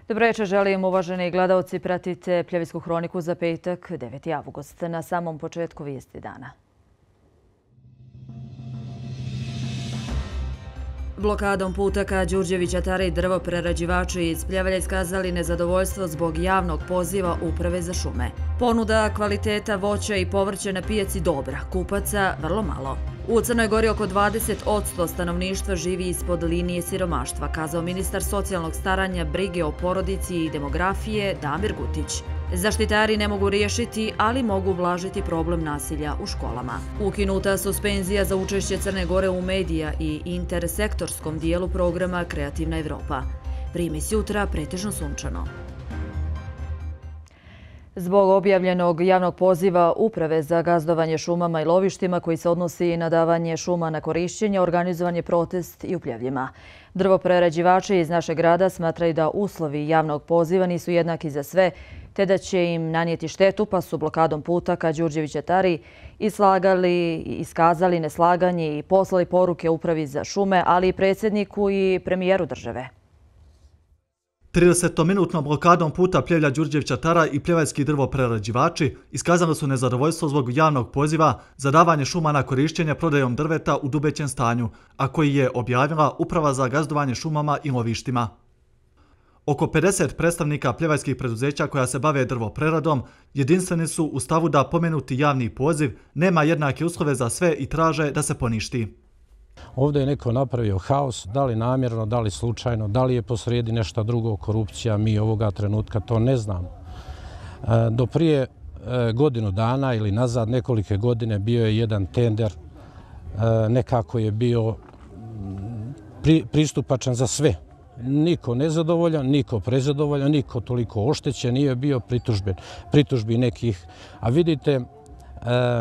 Dobro večer, želim uvaženi gledalci, pratite Pljevitsku hroniku za petak, 9. avgust. Na samom početku vijesti dana. Blokadom puta ka Đurđevića Tare i drvoprerađivači iz Pljevalja iskazali nezadovoljstvo zbog javnog poziva Uprave za šume. Ponuda kvaliteta voća i povrća na pijaci dobra, kupaca vrlo malo. U Crnoj Gori oko 20% stanovništva živi ispod linije siromaštva, kazao ministar socijalnog staranja, brige o porodici i demografije Damir Gutić. Zaštitari ne mogu riješiti, ali mogu ublažiti problem nasilja u školama. Ukinuta suspenzija za učešće Crne Gore u medija i intersektorskom dijelu programa Kreativna Evropa. Primis jutra pretežno sunčano. Zbog objavljenog javnog poziva Uprave za gazdovanje šumama i lovištima koji se odnosi na davanje šuma na korišćenje, organizovan je protest i u Pljevljima. Drvoprerađivači iz našeg grada smatraju da uslovi javnog poziva nisu jednaki za sve, te da će im nanijeti štetu, pa su blokadom puta ka Đurđevića Tari iskazali neslaganje i poslali poruke Upravi za šume, ali i predsjedniku i premijeru države. 30-minutnom blokadom puta Pljevlja Đurđevića Tara i pljevaljski drvoprerađivači iskazali su nezadovoljstvo zbog javnog poziva za davanje šuma na korišćenje prodajom drveta u dubećem stanju, a koji je objavila Uprava za gazdovanje šumama i lovištima. Oko 50 predstavnika pljevaljskih preduzeća koja se bave drvopreradom jedinstveni su u stavu da pomenuti javni poziv nema jednake uslove za sve i traže da se poništi. Ovdje je neko napravio haos, da li namjerno, da li slučajno, da li je posrijedi nešto drugo, korupcija, mi ovoga trenutka to ne znamo. Do prije godinu dana ili nazad nekolike godine bio je jedan tender, nekako je bio pristupačan za sve. Niko nezadovoljan, niko prezadovoljan, niko toliko oštećen, nije bio pritužbi nekih. A vidite,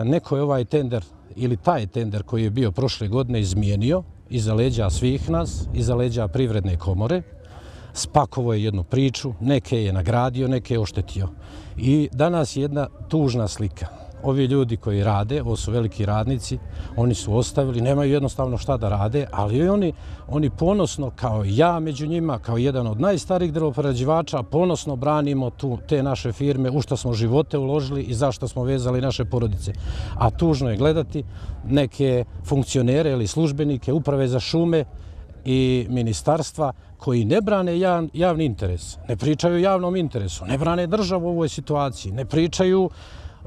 neko je ovaj tender ili taj tender koji je bio prošle godine izmijenio iza leđa svih nas, iza leđa Privredne komore, spakovao je jednu priču, neke je nagradio, neke je oštetio. I danas je jedna tužna slika. Ovi ljudi koji rade, ovo su veliki radnici, oni su ostavili, nemaju jednostavno šta da rade, ali oni ponosno, kao ja među njima, kao jedan od najstarijih drvoprerađivača, ponosno branimo te naše firme, u što smo živote uložili i zašto smo vezali naše porodice. A tužno je gledati neke funkcionere ili službenike Uprave za šume i ministarstva koji ne brane javni interes, ne pričaju o javnom interesu, ne brane državu u ovoj situaciji, ne pričaju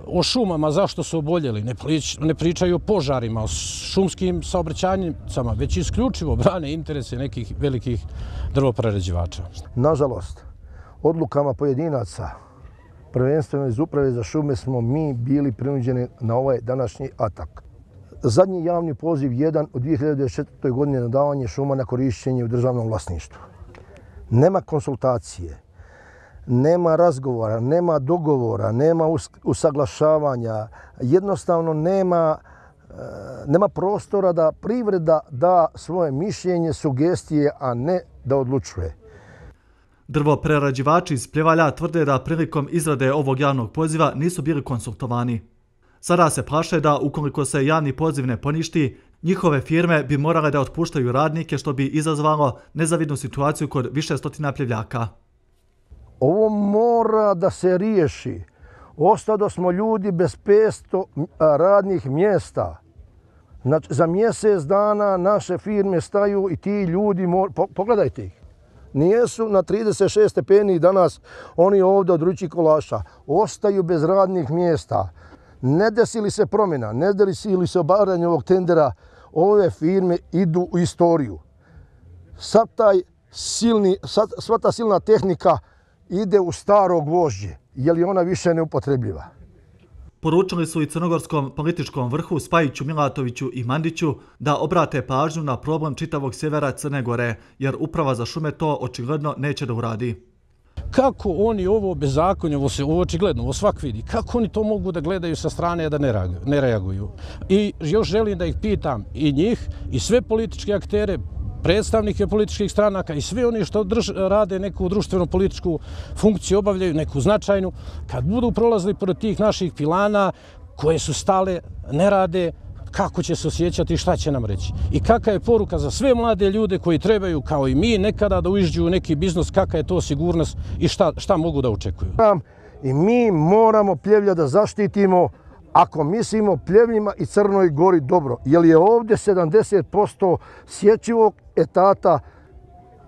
o šumama, zašto su oboljeli, ne pričaju o požarima, o šumskim saobraćajnicama, već isključivo brane interese nekih velikih drvoprerađivača. Nažalost, odlukama pojedinaca, prvenstveno iz Uprave za šume, smo mi bili prinuđeni na ovaj današnji atak. Zadnji javni poziv jedan u 2024. godine na davanje šuma na korišćenje u državnom vlasništvu. Nema konsultacije, nema razgovora, nema dogovora, nema usaglašavanja, jednostavno nema prostora da privreda da svoje mišljenje, sugestije, a ne da odlučuje. Drvoprerađivači iz Pljevalja tvrde da prilikom izrade ovog javnog poziva nisu bili konsultovani. Sada se plaše da ukoliko se javni poziv ne poništi, njihove firme bi morale da otpuštaju radnike, što bi izazvalo nezavidnu situaciju kod više stotina Pljevljaka. Ovo mora da se riješi. Ostado smo ljudi bez 500 radnih mjesta. Znači, za mjesec dana naše firme staju i ti ljudi, pogledajte ih, nijesu na 36 stepeni danas oni ovdje od ruči kolaša. Ostaju bez radnih mjesta. Ne desi li se promjena, ne desi li se obavljanje ovog tendera, ove firme idu u istoriju. Sva ta silna tehnika ide u staro gvožđe, jer je ona više neupotrebljiva. Poručili su i crnogorskom političkom vrhu Spajiću, Milatoviću i Mandiću da obrate pažnju na problem čitavog sjevera Crne Gore, jer Uprava za šume to očigledno neće da uradi. Kako oni ovo bezakonje, ovo očigledno, ovo svak vidi, kako oni to mogu da gledaju sa strane da ne reaguju? I još želim da ih pitam i njih i sve političke aktere, predstavnike političkih stranaka i sve oni što rade neku društveno-političku funkciju, obavljaju neku značajnu, kad budu prolazili pored tih naših pilana koje su stale, ne rade, kako će se osjećati i šta će nam reći. I kakva je poruka za sve mlade ljude koji trebaju, kao i mi, nekada da uđu u neki biznis, kakva je to sigurnost i šta mogu da očekuju. I mi moramo Pljevlja da zaštitimo ako mislimo Pljevljima i Crnoj Gori dobro. Jer je ovdje 70% sječivog etata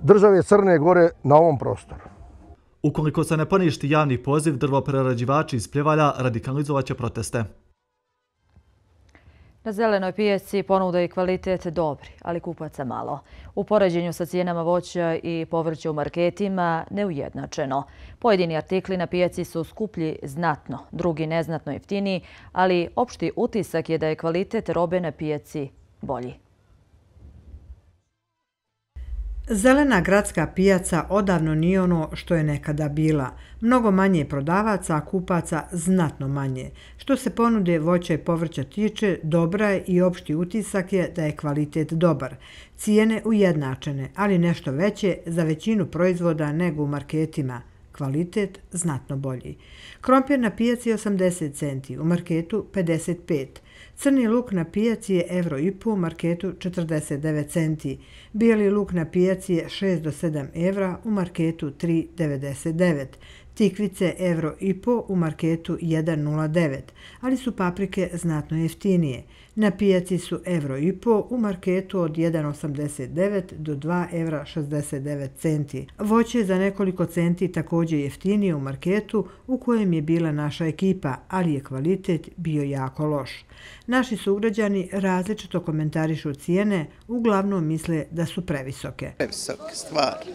države Crne Gore na ovom prostoru. Ukoliko se ne poništi javni poziv, drvoprerađivači iz Pljevalja radikalizovat će proteste. Na zelenoj pijaci ponuda i kvalitet dobri, ali kupaca malo. U poređenju sa cijenama voća i povrća u marketima neujednačeno. Pojedini artikli na pijaci su skuplji znatno, drugi neznatno jeftiniji, ali opšti utisak je da je kvalitet robe na pijaci bolji. Zelena gradska pijaca odavno nije ono što je nekada bila. Mnogo manje prodavaca, a kupaca znatno manje. Što se ponude voća i povrća tiče, dobra je i opšti utisak je da je kvalitet dobar. Cijene ujednačene, ali nešto veće za većinu proizvoda nego u marketima. Kvalitet znatno bolji. Krompir na pijaci 80 centi, u marketu 55. Crni luk na pijaci je €1,5, u marketu 49 centi. Bijeli luk na pijaci je 6 do 7 evra, u marketu 3,99. Tikvice €1,5, u marketu 1,09, ali su paprike znatno jeftinije. Na pijaci su €1,5, u marketu od 1,89 do 2,69 centi. Voće je za nekoliko centi također jeftinije u marketu u kojem je bila naša ekipa, ali je kvalitet bio jako loš. Naši sugrađani različito komentarišu cijene, uglavnom misle da su previsoke. Previsoke, stvarno.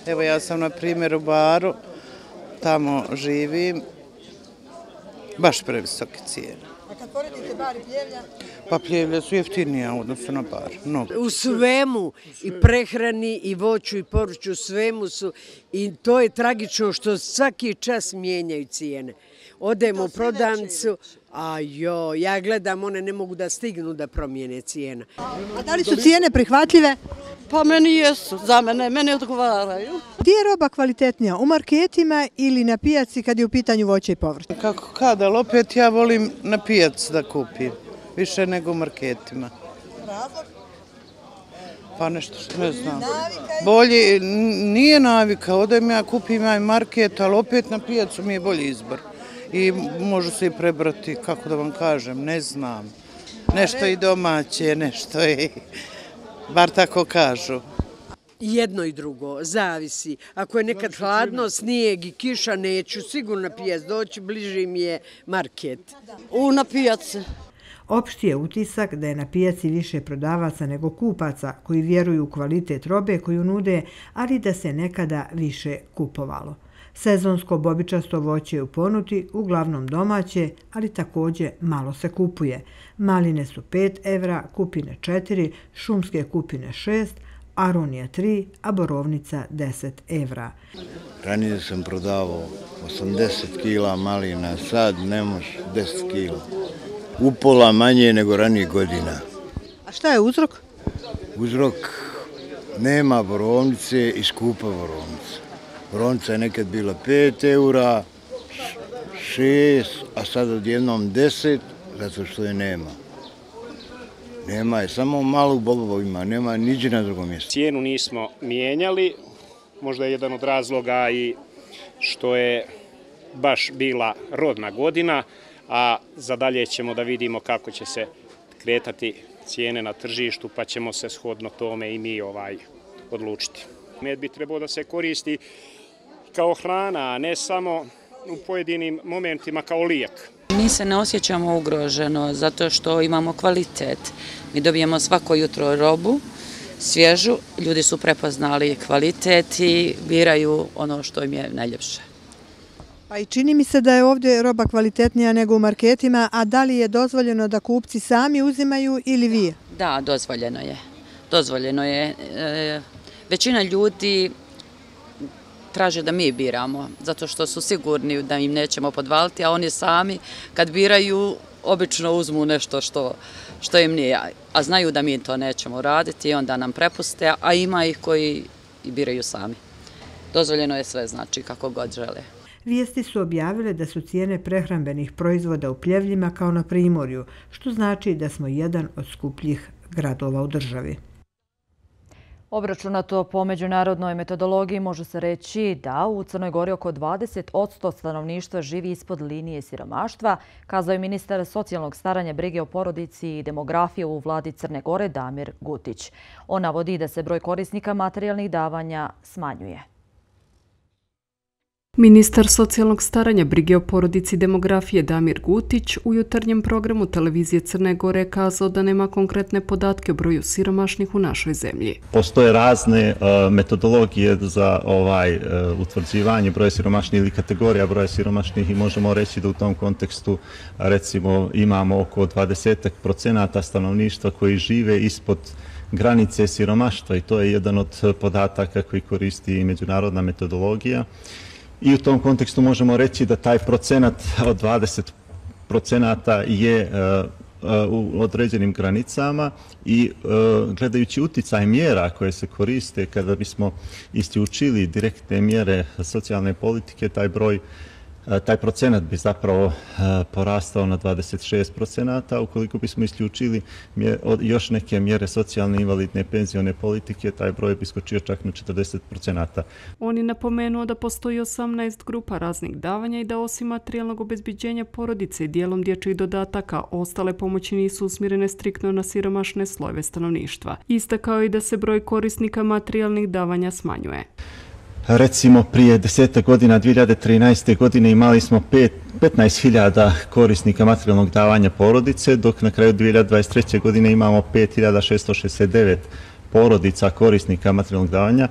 Evo ja sam na primjer u Baru, tamo živim, baš previsoke cijene. A kad poredite Bar i Pljevlja? Pa Pljevlja su jeftinija u odnosu na Bar. U svemu, i prehrani, i voću, i povrću, u svemu su. I to je tragično što svaki čas mijenjaju cijene. Odemo u prodavnicu, ja gledam, one ne mogu da stignu da promijene cijena. A da li su cijene prihvatljive? Pa meni jesu, za mene odgovaraju. Gdje je roba kvalitetnija, u marketima ili na pijaci kad je u pitanju voće i povrće? Kako kada, ali opet ja volim na pijaci da kupim, više nego u marketima. Razlog? Pa nešto što ne znam. Bolje, nije navika, odem ja kupim ja market, ali opet na pijacu mi je bolji izbor. I može se i prebrati, kako da vam kažem, ne znam. Nešto i domaće, nešto i, bar tako kažu. Jedno i drugo, zavisi. Ako je nekad hladno, snijeg i kiša, neću sigurno na pijac doći, bliži mi je market. Na pijaci. Opšti je utisak da je na pijaci više prodavaca nego kupaca koji vjeruju u kvalitet robe koju nude, ali da se nekada više kupovalo. Sezonsko bobičasto voće je u ponudi, uglavnom domaće, ali također malo se kupuje. Maline su 5 evra, kupine 4, šumske kupine 6, aronija 3, a borovnica 10 evra. Ranije sam prodavao 80 kila malina, sad ne može 10 kila. Upola manje nego ranije godina. A šta je uzrok? Uzrok nema borovnice i skupa borovnica. Borovnica je nekad bila 5 eura, 6, a sad odjednom 10, zato što je nema. Nema je, samo malo u bobovima, nema niđe na drugom mjestu. Cijenu nismo mijenjali, možda je jedan od razloga i što je baš bila rodna godina, a za dalje ćemo da vidimo kako će se kretati cijene na tržištu, pa ćemo se shodno tome i mi odlučiti. Med bi trebao da se koristi kao hrana, a ne samo u pojedinim momentima kao lijek. Mi se ne osjećamo ugroženo zato što imamo kvalitet. Mi dobijemo svako jutro robu, svježu, ljudi su prepoznali kvalitet i biraju ono što im je najljepše. Pa i čini mi se da je ovdje roba kvalitetnija nego u marketima, a da li je dozvoljeno da kupci sami uzimaju ili vi? Da, dozvoljeno je. Dozvoljeno je. Većina ljudi traže da mi biramo, zato što su sigurni da im nećemo podvaliti, a oni sami kad biraju obično uzmu nešto što im nije, a znaju da mi to nećemo raditi i onda nam prepuste, a ima ih koji i biraju sami. Dozvoljeno je sve, znači kako god žele. Vijesti su objavile da su cijene prehrambenih proizvoda u Pljevljima kao na Primorju, što znači da smo jedan od skupljih gradova u državi. Obračunato po međunarodnoj metodologiji može se reći da u Crnoj Gori oko 20% stanovništva živi ispod linije siromaštva, kazao je ministar socijalnog staranja, brige o porodici i demografije u vladi Crne Gore Damir Gutić. On navodi da se broj korisnika materijalnih davanja smanjuje. Ministar socijalnog staranja, brige o porodici i demografije Damir Gutić u jutarnjem programu televizije Crne Gore kazao da nema konkretne podatke o broju siromašnih u našoj zemlji. Postoje razne metodologije za utvrđivanje broja siromašnih ili kategorija broja siromašnih i možemo reći da u tom kontekstu recimo imamo oko 20% stanovništva koji žive ispod granice siromaštva i to je jedan od podataka koji koristi i međunarodna metodologija. I u tom kontekstu možemo reći da taj procenat od 20% je u određenim granicama i gledajući uticaj mjera koje se koriste kada bismo isključili direktne mjere socijalne politike, taj procenat bi zapravo porastao na 26%, ukoliko bismo isključili još neke mjere socijalne, invalidne, penzione politike, taj broj bi skočio čak na 40%. On je napomenuo da postoji 18 grupa raznih davanja i da osim materijalnog obezbeđenja porodice i dijelom dječjih dodataka, ostale pomoći nisu usmjerene striktno na siromašne slojeve stanovništva. Istakao i da se broj korisnika materijalnih davanja smanjuje. Recimo prije 10 godina, 2013. godine imali smo 15.000 korisnika materijalnog davanja porodice, dok na kraju 2023. godine imamo 5.669 porodica korisnika materijalnog davanja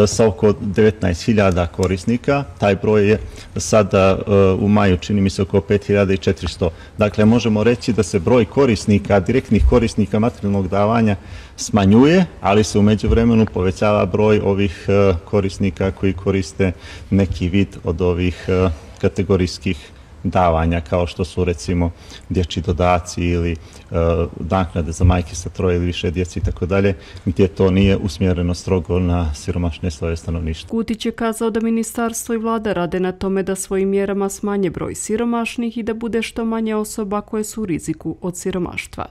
sa oko 19.000 korisnika. Taj broj je sada u maju, čini mi se, oko 5.400. Dakle, možemo reći da se broj korisnika, direktnih korisnika materijalnog davanja smanjuje, ali se u međuvremenu povećava broj ovih korisnika koji koriste neki vid od ovih kategorijskih davanja, kao što su recimo dječji dodaci ili naknade za majke sa 3 ili više djece i tako dalje, gdje to nije usmjereno strogo na siromašne slojeve stanovništva. Gutić je kazao da ministarstvo i vlada rade na tome da svojim mjerama smanje broj siromašnih i da bude što manje osoba koje su u riziku od siromaštva.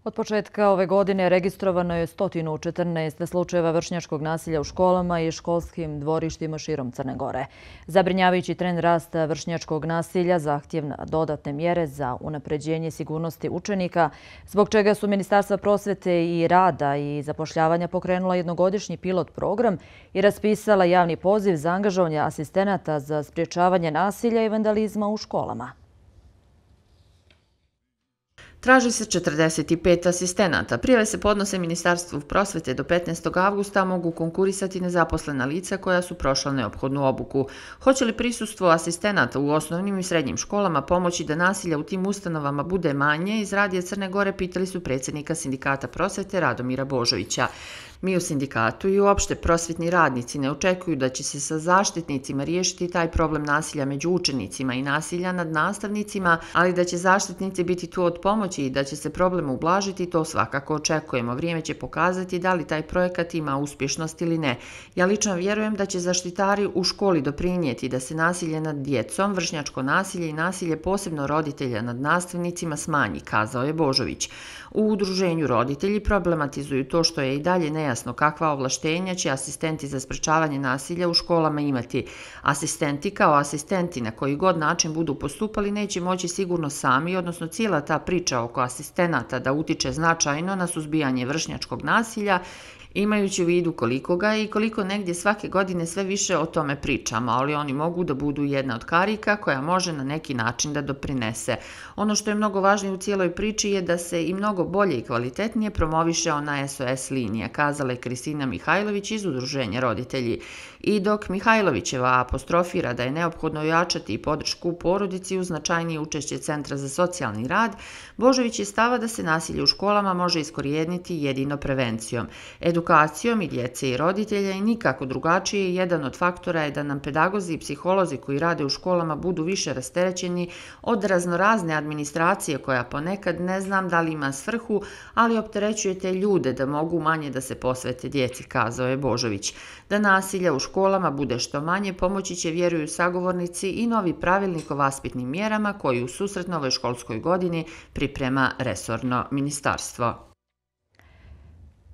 Od početka ove godine registrovano je 114 slučajeva vršnjačkog nasilja u školama i školskim dvorištima širom Crne Gore. Zabrinjavajući trend rasta vršnjačkog nasilja zahtjevna dodatne mjere za unapređenje sigurnosti učenika, zbog čega su Ministarstva prosvete i rada i zapošljavanja pokrenula jednogodišnji pilot program i raspisala javni poziv za angažovanje asistenata za sprječavanje nasilja i vandalizma u školama. Traži se 45 asistenata. Prijave se podnose Ministarstvu prosvete do 15. avgusta, mogu konkurisati nezaposlena lica koja su prošla neophodnu obuku. Hoće li prisustvo asistenata u osnovnim i srednjim školama pomoći da nasilja u tim ustanovama bude manje, iz Radija Crne Gore pitali su predsjednika Sindikata prosvete Radomira Božovića. Mi u sindikatu i uopšte prosvetni radnici ne očekuju da će se sa zaštitnicima riješiti taj problem nasilja među učenicima i nasilja nad nastavnicima, ali da će zaštitnici biti tu od pomoći i da će se problem ublažiti, to svakako očekujemo. Vrijeme će pokazati da li taj projekat ima uspješnost ili ne. Ja lično vjerujem da će zaštitari u školi doprinijeti da se nasilje nad djecom, vršnjačko nasilje i nasilje posebno roditelja nad nastavnicima smanji, kazao je Božović. U udruženju roditelji problematizuju to što je i dalje nejasno kakva ovlaštenja će asistenti za sprečavanje nasilja u školama imati. Asistenti kao asistenti na koji god način budu postupali neće moći sigurno sami, odnosno cijela ta priča oko asistenata da utiče značajno na suzbijanje vršnjačkog nasilja, imajući u vidu koliko ga i koliko negdje svake godine sve više o tome pričamo, ali oni mogu da budu jedna od karika koja može na neki način da doprinese. Ono što je mnogo važnije u cijeloj priči je da se i mnogo bolje i kvalitetnije promoviše ona SOS linija, kazala je Kristina Mihajlović iz Udruženja roditelji. I dok Mihajlovićeva apostrofira da je neophodno ojačati i podršku porodici uz značajnije učešće Centra za socijalni rad, Božović je stava da se nasilje u školama može iskorijeniti jedino prevencijom. Edukacijom i djece i roditelja i nikako drugačije, jedan od faktora je da nam pedagozi i psiholozi koji rade u školama budu više rasterećeni od raznorazne administracije koja ponekad ne znam da li ima svrhu, ali opterećuje te ljude da mogu manje da se posvete djeci, kazao je Božović. Da nasilja u školama bude što manje, pomoći će, vjeruju sagovornici, i novi pravilnik o vaspitnim mjerama koji u susret novoj školskoj godini priprema resorno ministarstvo.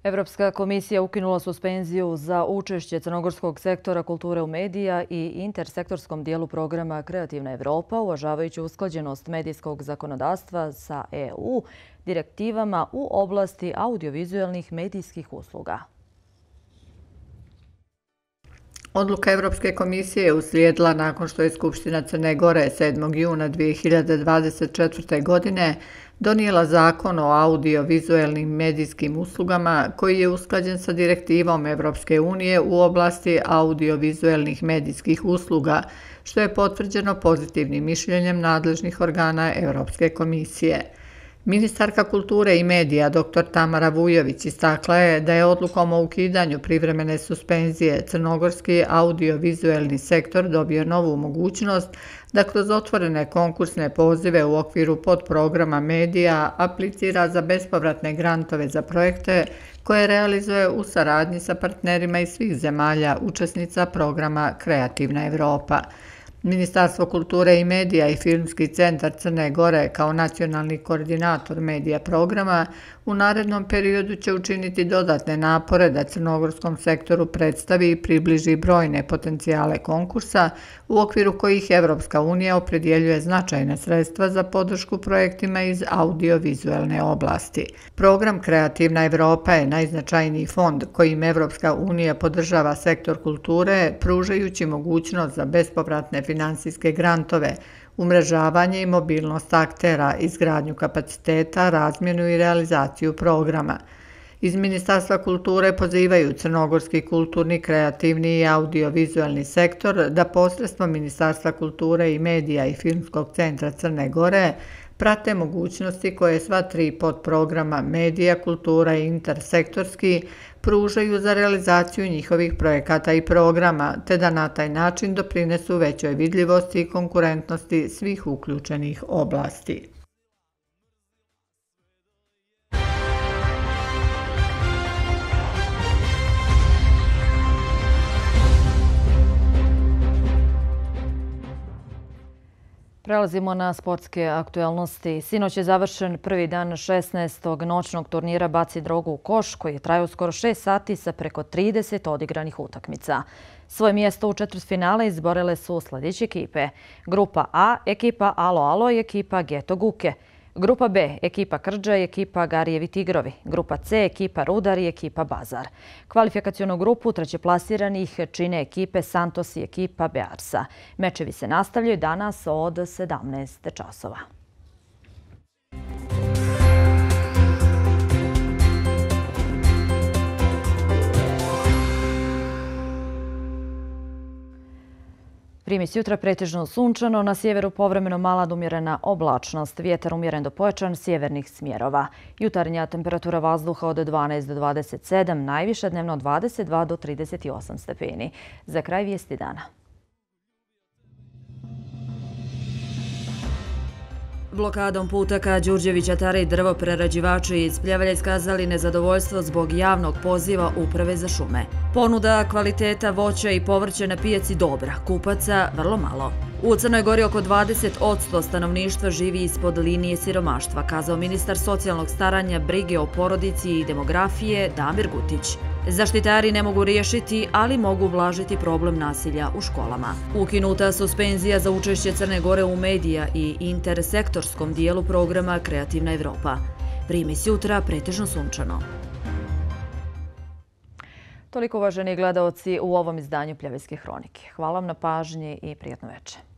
Evropska komisija ukinula suspenziju za učešće crnogorskog sektora kulture u medija i intersektorskom dijelu programa Kreativna Evropa, uvažavajući usklađenost medijskog zakonodavstva sa EU direktivama u oblasti audiovizualnih medijskih usluga. Odluka Evropske komisije je uslijedila nakon što je Skupština Crne Gore 7. juna 2024. godine donijela zakon o audiovizualnim medijskim uslugama koji je usklađen sa direktivom Evropske unije u oblasti audiovizualnih medijskih usluga, što je potvrđeno pozitivnim mišljenjem nadležnih organa Evropske komisije. Ministarka kulture i medija dr. Tamara Vujović istakla je da je odlukom o ukidanju privremene suspenzije crnogorski audiovizualni sektor dobio novu mogućnost da kroz otvorene konkursne pozive u okviru podprograma medija aplicira za bespovratne grantove za projekte koje realizuje u saradnji sa partnerima iz svih zemalja učesnica programa Kreativna Evropa. Ministarstvo kulture i medija i Filmski centar Crne Gore kao nacionalni koordinator medija programa u narednom periodu će učiniti dodatne napore da crnogorskom sektoru predstavi i približi brojne potencijale konkursa u okviru kojih Evropska unija opredjeljuje značajna sredstva za podršku projektima iz audiovizualne oblasti. Program Kreativna Evropa je najznačajniji fond kojim Evropska unija podržava sektor kulture, pružajući mogućnost za bespovratne finansijske grantove, umrežavanje i mobilnost aktera, izgradnju kapaciteta, razmjenu i realizaciju programa. Iz Ministarstva kulture pozivaju crnogorski kulturni, kreativni i audiovizualni sektor da posredstvom Ministarstva kulture i medija i Filmskog centra Crne Gore prate mogućnosti koje sva tri podprograma medija, kultura i intersektorski pružaju za realizaciju njihovih projekata i programa, te da na taj način doprinesu većoj vidljivosti i konkurentnosti svih uključenih oblasti. Prelazimo na sportske aktualnosti. Sinoć je završen prvi dan 16. noćnog turnira Baci drogu u koš, koji je trajao skoro 6 sati sa preko 30 odigranih utakmica. Svoje mjesto u četvrtfinale izborile su sljedeće ekipe. Grupa A, ekipa Alo Alo i ekipa Geto Guke. Grupa B, ekipa Krđa i ekipa Garijevi Tigrovi. Grupa C, ekipa Rudar i ekipa Bazar. Kvalifikacionu grupu trećeplasiranih čine ekipe Santos i ekipa Bearsa. Mečevi se nastavljaju danas od 17 časova. Primis jutra pretežno sunčano, na sjeveru povremeno mala do umjerena oblačnost, vjetar umjeren do pojačan sjevernih smjerova. Jutarnja temperatura vazduha od 12 do 27, najviša dnevno od 22 do 38 stepeni. Za kraj vijesti dana. Blokadom puta ka Đurđevića Tare i drvoprerađivači iz Pljevalja iskazali nezadovoljstvo zbog javnog poziva Uprave za šume. Ponuda kvaliteta voća i povrća na pijaci dobra, kupaca vrlo malo. U Crnoj Gori oko 20% stanovništva živi ispod linije siromaštva, kazao ministar socijalnog staranja, brige o porodici i demografije Damir Gutić. Zaštitari ne mogu riješiti, ali mogu ublažiti problem nasilja u školama. Ukinuta suspenzija za učešće Crne Gore u medija i intersektorskom dijelu programa Kreativna Evropa. Primis jutra pretežno sunčano. Toliko, uvaženi gledaoci, u ovom izdanju Pljevaljske hronike. Hvala vam na pažnji i prijatno večer.